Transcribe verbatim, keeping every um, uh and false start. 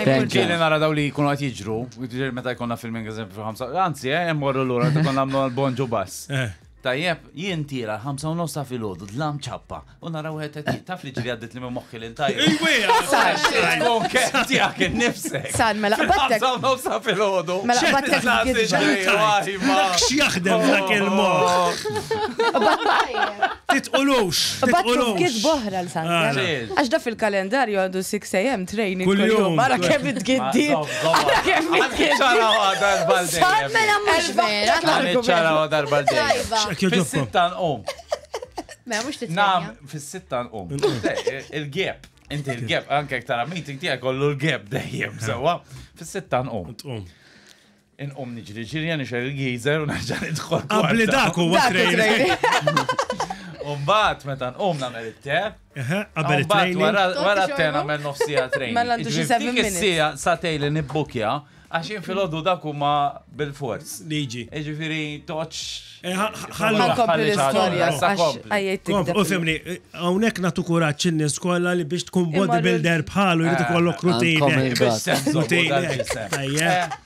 Thank you. Ġieli nara daw li jkunu qed jiġru, ġieli meta jkollna filming eżempju fil-ħamsa, anzi, eh, mmorru lura meta konna nagħmlu l-bonġu bass. Eh. Tajjeb, jien tira ħamsa u nofs ta' filgħodu, dlam ċappa, u nara wieħed qed taf li ġieli għaddit li minn moħħi lil tajjeb. Tkun kemm tiegħek innifsek. San, mela qbadtek. Ħamsa u nofs ta' filgħodu. Mela qbadtek gidba. Dak x'jaħdem dak il-moħħ. Titqulux, Qbadtu titqulux. f'gidba oħra l-Sander. Ah. Għax da fil-kalendarju għandu sitta A M training Kull kull jum. jum. Ara kemm itgiddi. Ara kemm itgiddi. Ċaraw darba San, l-dejjem. Mela mhux vera. Ċaraw darba l-dejjem. Tajba. X'hekk jogħġobkom. Fis-sitta nqum. Mela mhux titrenja. Nam, fis-sitta nqum. Il-gap. Inti il-gap, anke tara meeting tiegħek kollu l-gap dejjem sewwa. Fis-sitta nqum. Tqum. Inqum niġri ġirja nixgħel il-geyser u nerġa' nidħol. Qabli kwarta. dak huwa Dak training. U mbagħad meta nqum nagħmel it-te. Eħe, qabel U mbagħad it-training. wara wara t-te nagħmel nofs siegħa training. Mela għandu xi Jiġifieri seven dik minutes. is-siegħa sagħtejn li nibbukja għax jien filgħodu dak huma bil-fors. Liġi. Jiġifieri toċ. Eh, ħa- ħallu- Ħa nkompli l-istorja. Issa Għax kompli. għajjejt Kom, tikdeb. u fimni, hawnhekk nagħtu kuraġġ in-nies kollha li biex tkun Imma bodybuilder bħalu jrid ikollok Għandkom routine. il-gat. Routine. Tajjeb.